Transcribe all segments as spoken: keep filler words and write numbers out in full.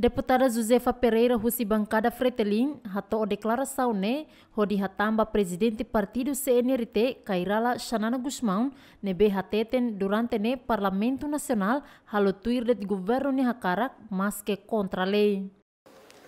Deputada Josefa Pereira husi bankada Fretilin hato'o deklarasaun ne'e hodi hatán ba Prezidente Partidu C N R T, Kay Rala Xanana Gusmão, ne'ebé hateten durante ne'e Parlamentu Nasionál halo tuir de'it governu nia hakarak, maske kontra lei.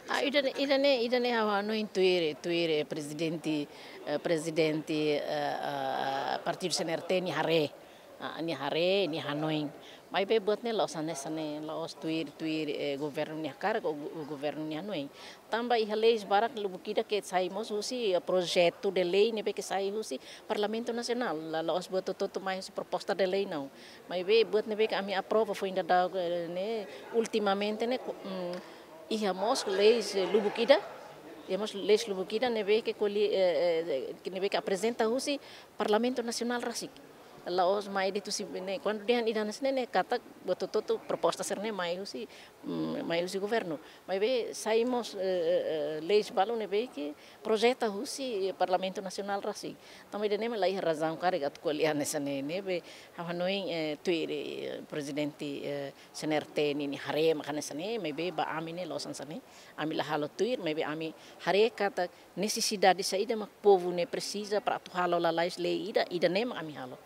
Ah, ida-ne'e, ida-ne'e, ida-ne'e ha'u hanoin tuir, tuir, eh, Prezidente, eh, Prezidente, eh, eh, Partidu C N R T nia haree. Ah, nia haree, nia hanoin. Maibé buat ne'e la'ós hanesan ne'e, la'ós tuir, tuir, eh, governu nia hakarak ou go-, governu nia hanoin. Tanba iha leis barak lubuk ida ke sai mós husi, eh, projetu de lei ne'ebé ke sai husi Parlamentu Nasionál. La, la'ós buat hotu-hotu mai husi proposta de lei, não. Maibé buat ne'ebé ke ami aprova foin daudaun, eh, ne'e, ultimamente ne'e, ko-, mm, iha mós leis, eh, lubuk ida, iha mós leis lubuk ida ne'ebé ke koli-, eh, eh, ke ne'ebé ke aprezenta husi Parlamentu Nasionál rasik. La'ós mai de'it husi ne'e, kuandu dehan ida hanesan ne'e, ne'e katak buat hotu-hotu proposta sira-ne'e mai husi, mm, mai husi governu. Maibé sai mós, eh, eh, eh, leis balu ne'ebé ke projeta husi Parlamentu Nasionál rasik. Tanba ida-ne'e mak la iha razaun karik atu ko'alia hanesan ne'e, ne'ebé ha'u hanoin, eh, tuir, eh, Prezidente, eh, C N R T nia, nia haree mak hanesan ne'e, maibé ba ami ne'e la'ós hanesan ne'e. Ami la halo tuir, maibé ami haree katak nesesidade saida mak povu ne'e presiza para atu halo lalais lei ida, ida-ne'e mak ami halo.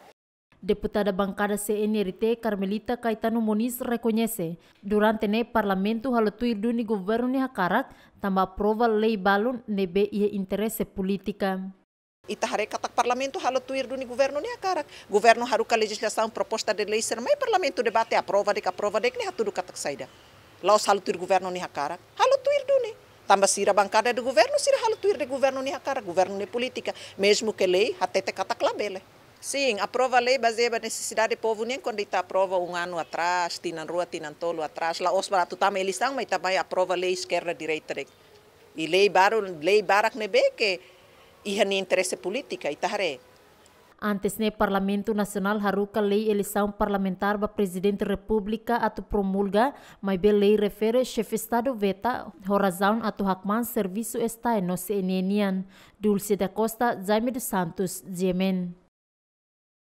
Deputada bankada C N R T Carmelita Caetano Moniz rekoñese, durante ne'e Parlamentu halo tuir duni governu nia hakarak, tanba aprova lei balun ne'ebé iha interese polítika. Ita haree katak Parlamentu halo tuir duni governu nia hakarak. Governu haruka lejizlasaun, proposta de lei sira mai Parlamentu debate, aprova de'it, aprova de'it, ne'e hatudu katak saida? La'ós halo tuir governu nia hakarak. Halo tuir duni. Tanba sira bankada de governu, sira halo tuir de'it governu nia hakarak, governu nia polítika. Mezmu ke lei hatete katak labele. Sin, aprova lei bazeia ba nesesidade povu nian, kuandu ita aprova um ano atrás, tinan rua, tinan tolu atrás, la'ós para atu tama eleisaun, mas ita mai aprova lei eskerda direita de'it. I lei balu, lei barak ne'ebé ke iha nia interese polítika, ita haree. Antes ne'e Parlamentu Nasionál haruka lei eleisaun parlamentár ba Prezidente Repúblika atu promulga, maibé lei refere Xefe Estadu veta, ho razaun atu hakmaan servisu STAE no C N E nian. Dulce da Costa, Jaime dos Santos, G M N.